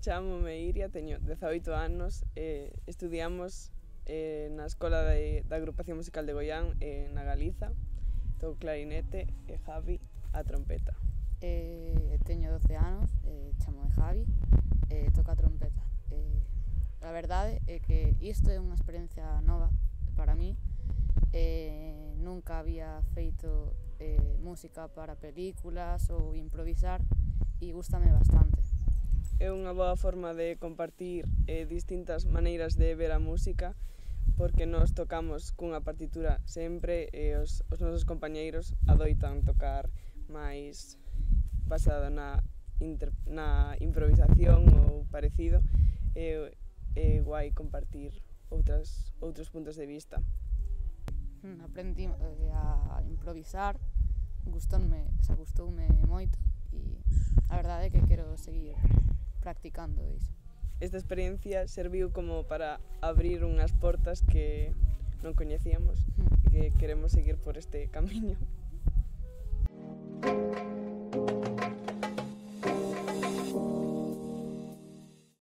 Chámome Iria, teño 18 anos, estudiamos na Escola da Agrupación Musical de Goián, na Galiza. Toco clarinete e Javi a trompeta. Teño 12 anos, chámome Javi, toco a trompeta. A verdade é que isto é unha experiencia nova para mí. Nunca había feito música para películas ou improvisar e gústame bastante. É unha boa forma de compartir distintas maneiras de ver a música, porque nós tocamos cunha partitura sempre e os nosos compañeiros adoitan tocar máis basado na improvisación ou parecido. É guai compartir outros puntos de vista. Aprendi a improvisar, gustoume moito e a verdade é que quero seguir practicando iso. Esta experiencia serviu como para abrir unhas portas que non coñecíamos e que queremos seguir por este camiño.